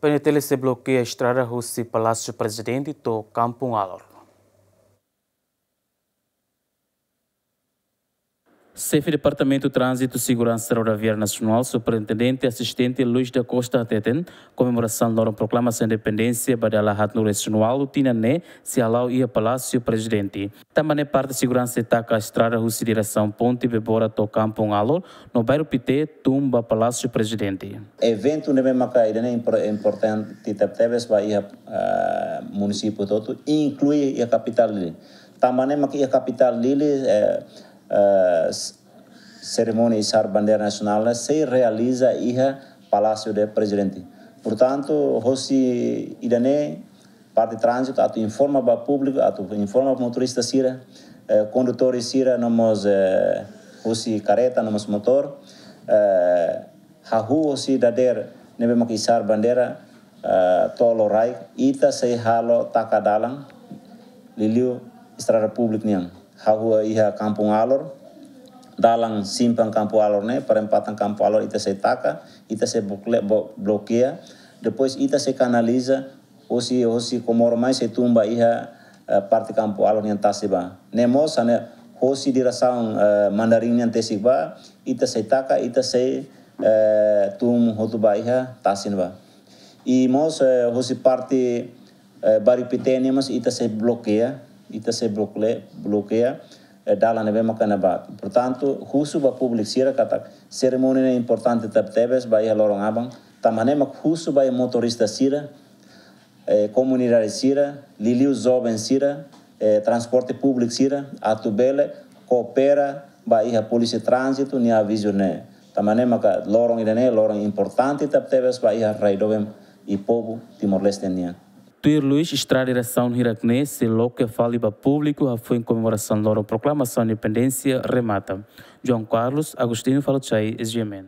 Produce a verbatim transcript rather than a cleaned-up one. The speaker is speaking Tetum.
PNTL sei blokeia estrada husi Palásiu Prezidente to'o Kampung Alor. Xefe Departamentu Tránzitu Seguransa Rodoviária Nasionál, Superintendente Asistente Luis da Costa hateten, komemorasaun loron proklamasaun independénsia ba dala haat-nulu-resin-ualu tinan ne'e sei hala'o iha Palásiu Prezidente. Tanba ne'e parte seguransa sei taka estrada husi diresaun Ponte Bebora to'o Kampung Alor, no Bairru Pité tun ba Palásiu Prezidente. Eventu ne'ebé maka ida-ne'e impor-, importante tebetebes ba iha, ah, munisípiu hotu, inklui iha kapitál Dili. Tanba ne'e maka iha kapitál Dili, eh, eh, s-, serimónia isar bandeira nasionál ne'e sei realiza iha Palásiu Prezidente. Portantu, hosi ida-ne'e, parte tránzitu atu informa ba públiku, atu informa ba motorista sira, eh, kondutór sira, no mós, eh, husi karreta, no mós motór, eh, hahú hosi dadeer ne'ebé maka isar bandeira, eh, to'o loraik, ita sei halo taka dalan, liuliu estrada públiku nian. Hahú iha Kampung Alor, dalan simpang Kampung Alor ne'e, perempatan Kampung Alor ita sei taka, ita sei bokle-, bo-, blokeia, depois ita sei kanaliza, hosi, hosi Comoro mai sei tun ba iha, eh, parte Kampung Alor nian tasi ba. Ne'e mós hanesan hosi diresaun, eh, Mandarin nian tesi ba, ita sei taka, ita sei, eh, tun hotu ba iha tasi ba. I mós, eh, hosi parte, eh, Bairru Pité nian mós ita sei blokeia, ita sei blokle-, blokeia, eh, dalan ne'ebé maka ne'ebá. Portantu, husu ba públiku sira katak serimónia ne'e importante tebetebes ba iha loron aban, tanba ne'e mak husu ba iha motorista sira, eh, komunidade sira, liuliu joven sira, eh, transporte públiku sira, atu bele koopera ba iha polísia tránzitu nia avizu ne'e. Tanba ne'e maka loron ida-ne'e loron importante tebetebes ba iha rai doben i povu Timor-Leste nian. Tuir Luis, estrada diresaun hirak-ne'e sei loke fali ba públiku hafoin komemorasaun loron proklamasaun independénsia remata. João Carlos Agostinho, Fala Chai, S G M N.